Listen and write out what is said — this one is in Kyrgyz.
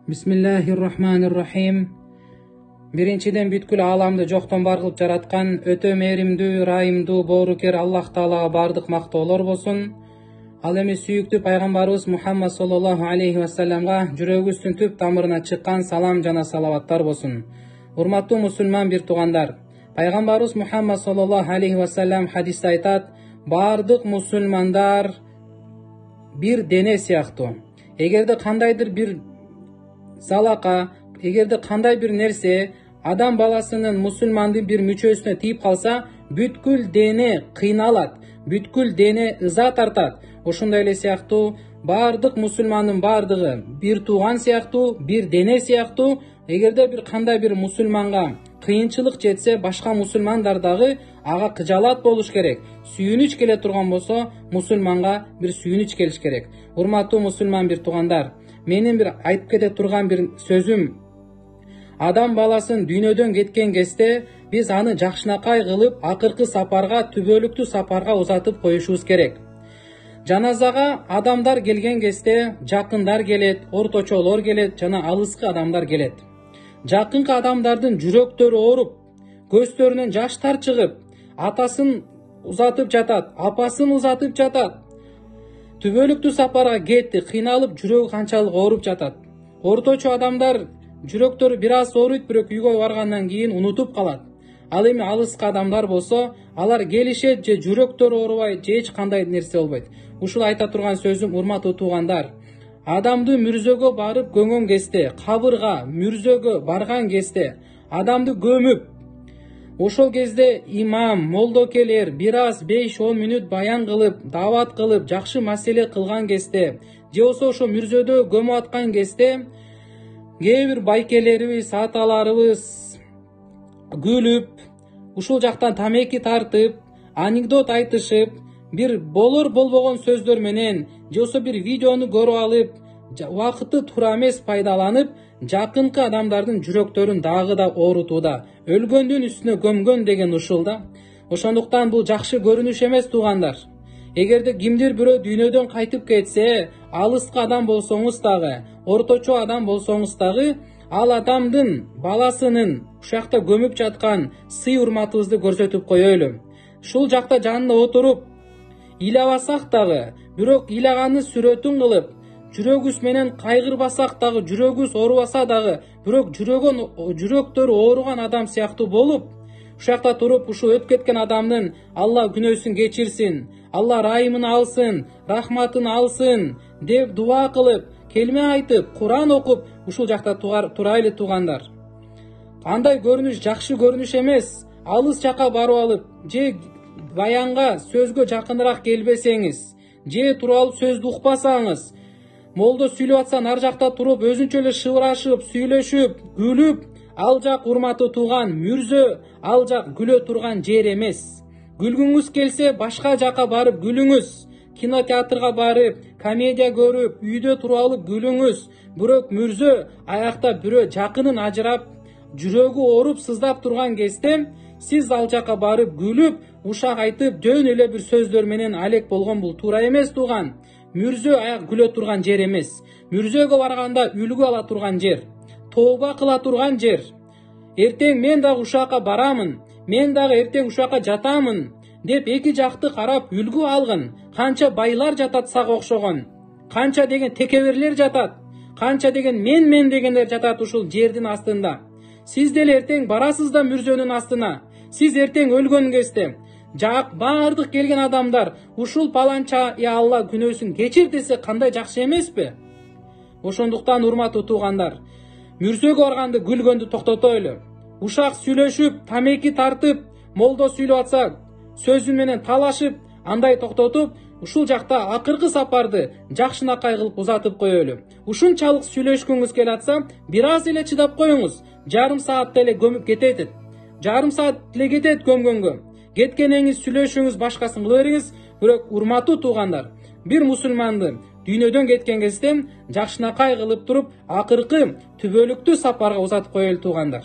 Bismillahirrahmanirrahim. Биринчиден бүткүл ааламды жоктон бар кылып жараткан өтө мээримдүү, ырайымдуу, боорукер Аллах Таалага бардык мактоолор болсун. Ал эми сүйүктүү пайгамбарыбыз Мухаммад саллаллаху алейхи вассаламга жүрөгүбүздүн түп тамырына чыккан салам жана салаваттар болсун. Урматтуу мусулман бир туугандар, пайгамбарыбыз Мухаммад саллаллаху алейхи вассалам хадисте айтат: бардык мусулмандар бир дене сыяктуу. Эгерде кандайдыр бир залака, эгерде кандай бир нерсе адам баласынын, мусулмандын бир мүчөсүнө тийип калса, бүткүл дене кыйналат, бүткүл дене ыза тартат. Ошондой эле сыяктуу бардык мусулмандын бардыгы бир тууган сыяктуу, бир дене сыяктуу. Эгерде бир кандай бир мусулманга кыйынчылык жетсе, башка мусулмандар дагы ага кыжаалат болуш керек. Сүйүнүч келе турган болсо, мусулманга бир сүйүнүч келиш керек. Урматтуу мусулман бир туугандар, менин бир айтып кете турган бир сөзүм: адам баласын дүйнөдөн кеткен кезде биз аны жакшынакай кылып акыркы сапарга, түбөлүктүү сапарга узатып коюшубуз керек. Жаназага адамдар келген кезде жакындар келет, орточолор келет жана алыскы адамдар келет. Жакынкы адамдардын жүрөктөрү ооруп, көздөрүнөн жаштар чыгып, атасын узатып жатат, апасын узатып жатат. Түбөлүктүү сапарга кетти, кыйналып, жүрөгү канчалык ооруп жатат. Орточо адамдар жүрөктөрү бир аз ооруйт, бирок үйгө баргандан кийин унутуп калат. Ал эми алыскы адамдар болсо, алар келишет, же жүрөктөрү оорубайт, же эч кандай нерсе болбойт. Ушул айта турган сөзүм, урматтуу туугандар, адамды мүрзөгө барып көмгөн кезде, кабырга, мүрзөгө барган кезде, адамды көмүп, ошол кезде имам, молдокелер бир аз 5-10 мүнөт баян кылып, даават кылып, жакшы маселе кылган кезде, же болбосо ошо мүрзөдө көмүп аткан кезде, кээ бир байкелерибиз, аталарыбыз күлүп, ушул жактан тамеки тартып, анекдот айтышып, бир болор болбогон сөздөр менен, же болбосо бир видеону көрүп алып, убакытты туура эмес пайдаланып, жакынкы адамдардын жүрөктөрүн дагы да оорутууда. Өлгөндүн үстүнө көмгөн деген ушул да. Ошондуктан бул жакшы көрүнүш эмес, туугандар. Эгерде кимдир бирөө дүйнөдөн кайтып кетсе, алыскы адам болсоңуз дагы, орточо адам болсоңуз дагы, ал адамдын баласынын ушакта көмүп жаткан сый урматыбызды көрсөтүп коелу. Ушул жакта жанында отуруп, ыйлабасак дагы, бирок ыйлаганын сүрөтүн кылып, жүрөгүбүз менен кайгырбасак дагы, жүрөгүбүз оорубаса дагы, бирок жүрөктөрү ооруган адам сыяктуу болуп, ушакта туруп, ушул өтүп кеткен адамдын Алла күнөөсүн кечирсин, Алла райымын алсын, рахматын алсын деп дуа кылып, келме айтып, Куран окуп, ушул жакта турайлы, туугандар. Андай көрүнүш жакшы көрүнүш эмес. Алыс жака барып алып, же баянга, сөзгө жакыныраак келбесеңиз, же туруп алып сөздү укпасаңыз, молдо сүйлөп атса ар жакта туруп, өзүнчө эле шыбырашып, сүйлөшүп, күлүп, ал жак, урматтуу тууган, мүрзө, ал жак күлө турган жер эмес. Күлгүңүз келсе, башка жака барып күлүңүз. Кинотеатрга барып, комедия көрүп, үйдө туруп алып күлүңүз. Бирок мүрзө, аякта бирөө жакынын ажырап, жүрөгү ооруп, сыздап турган кезде, сиз ал жака барып күлүп, ушак айтып, жөн эле бир сөздөр менен алек болгон, бул туура эмес, тууган. Мүрзө аяк күлө турган жер эмес. Мүрзөгө барганда үлгү ала турган жер, тооба кыла турган жер. Эртең мен дагы ушакка барамын, мен дагы эртең ушакка жатамын деп эки жакты карап үлгү алгын. Канча байлар жатат сага окшогон, канча деген текеберлер жатат, канча деген мен дегендер жатат ушул жердин астында. Сиз деле эртең барасыз да мүрзөнүн астына. Сиз эртең өлгөн кезде бардык келген адамдар ушул паланча Алла күнөөсүн кечир десе, кандай жакшы эмеспи? Ошондуктан, урматтуу туугандар, мүрзөгө барганды күлгөндү токтотойлу. Ушак сүйлөшүп, тамеки тартып, молдо сүйлөп атса, сөзү менен талашып, андай токтотуп, ушул жакта акыркы сапарды жакшынакай кылып узатып коелу. Ушунчалык сүйлөшкүңүз келип атса, бир аз эле чыдап коюңуз. Жарым саат эле көмүп кетет. Жарым саат эле кетет көмгөнгө. Кеткенеңиз сүйлөшүңүз, башкасын кыла бериңиз. Бирок, урматтуу туугандар, бир мусулманды дүйнөдөн кеткен кезде жакшынакай кылып туруп, акыркы түбөлүктүү сапарга узатып коелу, туугандар.